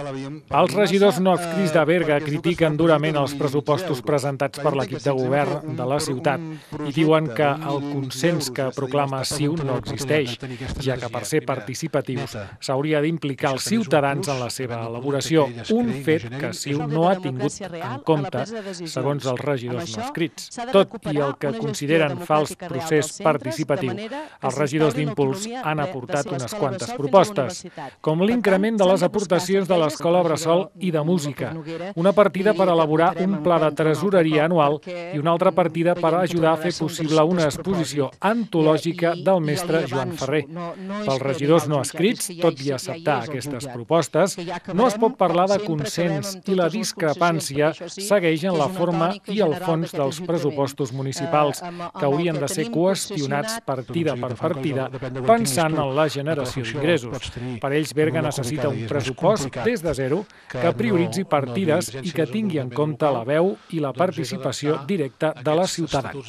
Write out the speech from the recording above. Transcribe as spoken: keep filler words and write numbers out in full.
Els regidors no adscrits de Berga critiquen durament els pressupostos presentats per l'equip de govern de la ciutat i diuen que el consens que proclama CiU no existeix, ja que per ser participatius s'hauria d'implicar els ciutadans en la seva elaboració, un fet que CiU no ha tingut en compte, segons els regidors no adscrits. Tot i el que consideren fals procés participatiu, els regidors d'Impuls han aportat unes quantes propostes, com l'increment de les aportacions de l'Escola Bressol i de Música, una partida per elaborar un pla de tresoreria anual i una altra partida per ajudar a fer possible una exposició antològica del mestre Joan Ferrer. Pels regidors no adscrits, tot i acceptar aquestes propostes, no es pot parlar de consens i la discrepància segueix en la forma i el fons dels pressupostos municipals, que haurien de ser qüestionats partida per partida, pensant en la generació d'ingressos. Per ells, Berga necessita un pressupost des de zero que prioritzi partides i que tingui en compte la veu i la participació directa de la ciutadania.